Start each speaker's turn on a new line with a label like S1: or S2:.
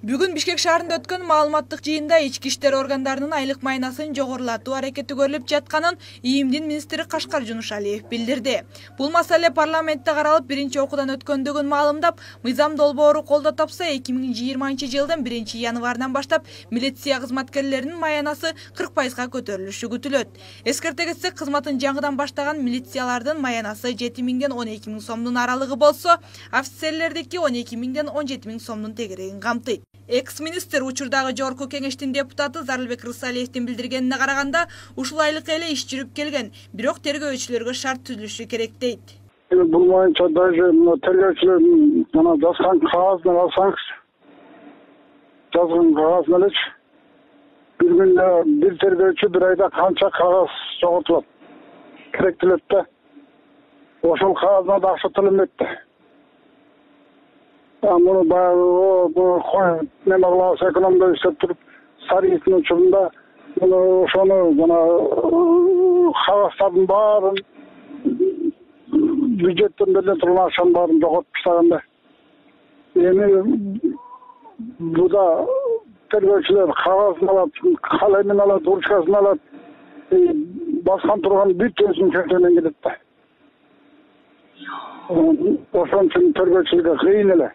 S1: Бүгүн Бишкек шаарында өткөн маалыматтык жыйында ички иштер органдарынын айлык майнасын жогорулатуу аракети көрүлүп жатканын ИИМдин министри Кашкар Жунушалиев билдирди. Бул маселе парламентте каралып, биринчи окуудан өткөндүгүн маалымдап, мыйзам долбоору колдоо тапса, 2020-жылдын 1-январынан баштап милиция кызматкерлеринин маянасы 40% көтөрүлүшү күтүлөт. Эскерте кетсек, кызматын жаңыдан баштаган милициялардын маянасы 7.000 ден 12.000 сомдун аралыгы болсо, офицерлердики 12.000 ден 17.000 сомдун тегерегин камтыйт. Экс-министр учурдагы жогорку кеңештин депутаты Зарлыбек Рысалиевдин билдиргенине караганда, ушул айлык эле иш жүрүп келген, бирок тергөөчүлөргө шарт түзүлүшү керек дейт.
S2: Бул боюнча даже тергөөчүлөрдүн жана жазган кагазын алсаңыз, жазган кагазын элечи бир күндө бир тергөөчү бир айда канча кагаз жоготулат, керектелет да. Ошол кагазына да акча төлөнбөйт да. Муну баягы неме кылабыз, экономдо иштеп туруп, Сариевдин учурунда ошону жана кагаздардын баарын бюджеттен бериле турган акчанын баарын жоготуп таштаган да. Эми буда тергөөчүлөр кагазын алат, калемин алат, ручкасын алат, баскан турган бүт өзүнүн чөнтөгүнөн кетет да. Ошон үчүн тергөөчүлөргө кыйын эле.